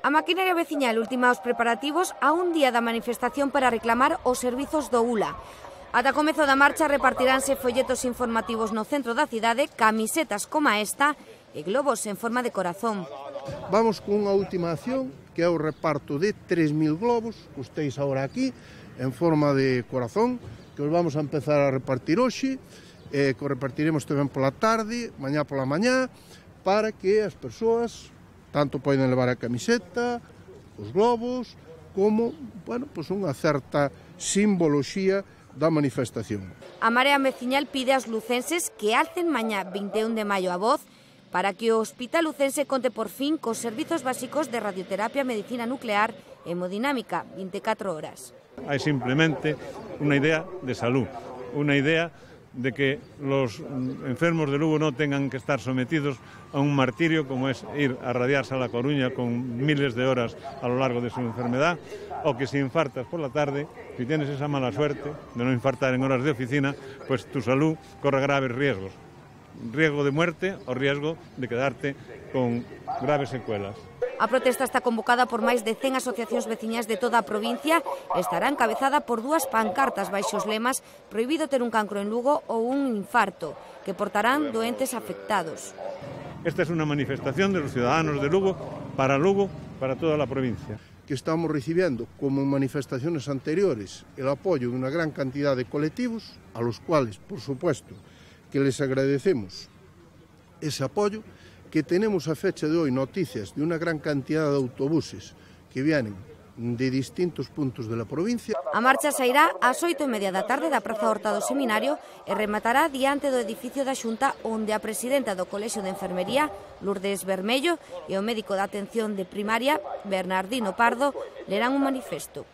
A maquinaria veciñal ultima os preparativos a un día da manifestación para reclamar os servizos do ULA. Ata comezo da marcha repartiránse folletos informativos no centro da cidade, camisetas como esta e globos en forma de corazón. Vamos con unha última acción, que é o reparto de 3.000 globos, que estéis agora aquí, en forma de corazón, que os vamos a empezar a repartir hoxe, que os repartiremos tamén pola tarde, mañá pola mañá, para que as persoas tanto poden levar a camiseta, os globos, como, pues unha certa simboloxía da manifestación. A Marea Veciñal pide aos lucenses que alcen mañá 21 de maio a voz para que o Hospital Lucense conte por fin cos servizos básicos de radioterapia, medicina nuclear e hemodinámica 24 horas. Hai simplemente unha idea de salud, unha idea de que los enfermos de Lugo no tengan que estar sometidos a un martirio como es ir a radiarse a La Coruña con miles de horas a lo largo de su enfermedad, o que si infartas por la tarde, si tienes esa mala suerte de no infartar en horas de oficina, pues tu salud corre graves riesgos. Riesgo de muerte o riesgo de quedarte con graves secuelas. A protesta está convocada por máis de 100 asociacións veciñas de toda a provincia e estará encabezada por 2 pancartas baixo os lemas "Prohibido ter un cancro en Lugo" ou "Un infarto", que portarán doentes afectados. Esta es una manifestación de los ciudadanos de Lugo, para toda la provincia. Que estamos recibiendo, como en manifestaciones anteriores, el apoyo de una gran cantidad de colectivos, a los cuales, por supuesto, que les agradecemos ese apoyo, que tenemos a fecha de hoy noticias de una gran cantidad de autobuses que vienen de distintos puntos de la provincia. A marcha sairá ás 8:30 da tarde da Praza Horta do Seminario e rematará diante do edificio da Xunta, onde a presidenta do Colexio de Enfermería, Lourdes Bermello, e o médico da atención de primaria, Bernardino Pardo, lerán un manifesto.